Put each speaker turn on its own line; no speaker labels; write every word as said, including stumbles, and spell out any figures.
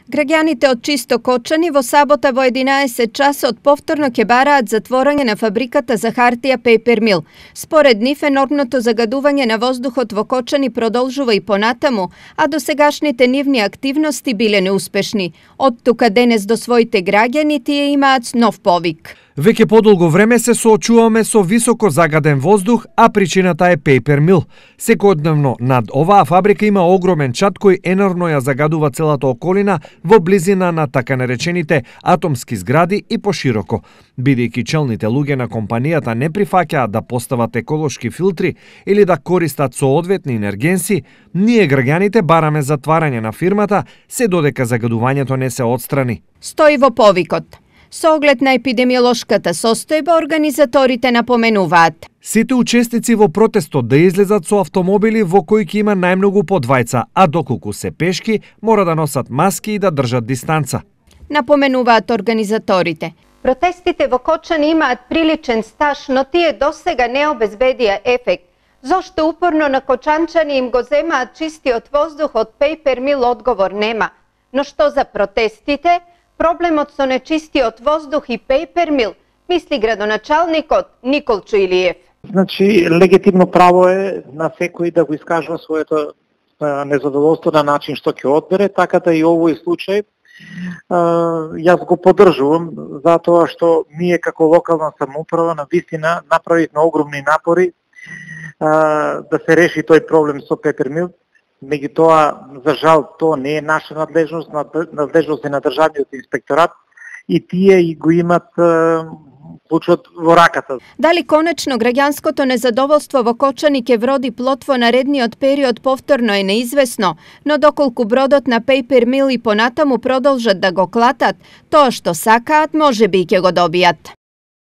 Граѓаните од Чисто Кочани во сабота во единаесет часот повторно ќе бараат затворање на фабриката за хартија Paper Mill. Според нив енормното загадување на воздухот во Кочани продолжува и понатаму, а досегашните нивни активности биле неуспешни. Од тука денес до своите граѓани тие имаат нов повик.
Веќе подолго време се соочуваме со високо загаден воздух, а причината е Paper Mill. Секојдневно над оваа фабрика има огромен чад кој енормно ја загадува целата околина во близина на така наречените атомски згради и пошироко. Бидејќи челните луѓе на компанијата не прифаќаат да постават еколошки филтри или да користат соодветни енергенси, ние граѓаните бараме затварање на фирмата се додека загадувањето не се отстрани.
Стои во повикот. Со оглед на епидемиолошката состојба, организаторите напоменуваат:
сите учесници во протестот да излезат со автомобили во кои ќе има најмногу по двајца, а доколку се пешки, мора да носат маски и да држат дистанца.
Напоменуваат организаторите. Протестите во Кочани имаат приличен стаж, но тие досега не обезбедија ефект. Зошто упорно на кочанчани им го земаат чистиот воздух од Paper Mill, одговор нема. Но што за протестите? Проблемот со нечистиот воздух и Paper Mill, мисли градоначалникот Николчо Илиев.
Значи, легитимно право е на секој да го искажува своето незадоволство на начин што ќе одбере, така да и овој случај јас го поддржувам, затоа што ние како локална самоуправа на вистина направивме огромни напори да се реши тој проблем со Paper Mill. Меѓутоа, за жал, тоа не е наша надлежност, надлежност е на државниот инспекторат и тие и го имат клучот во раката.
Дали конечно граѓанското незадоволство во Кочани ќе вроди плод во наредниот период повторно е неизвестно, но доколку бродот на Paper Mill и понатаму продолжат да го клатат, тоа што сакаат можеби ќе го добијат.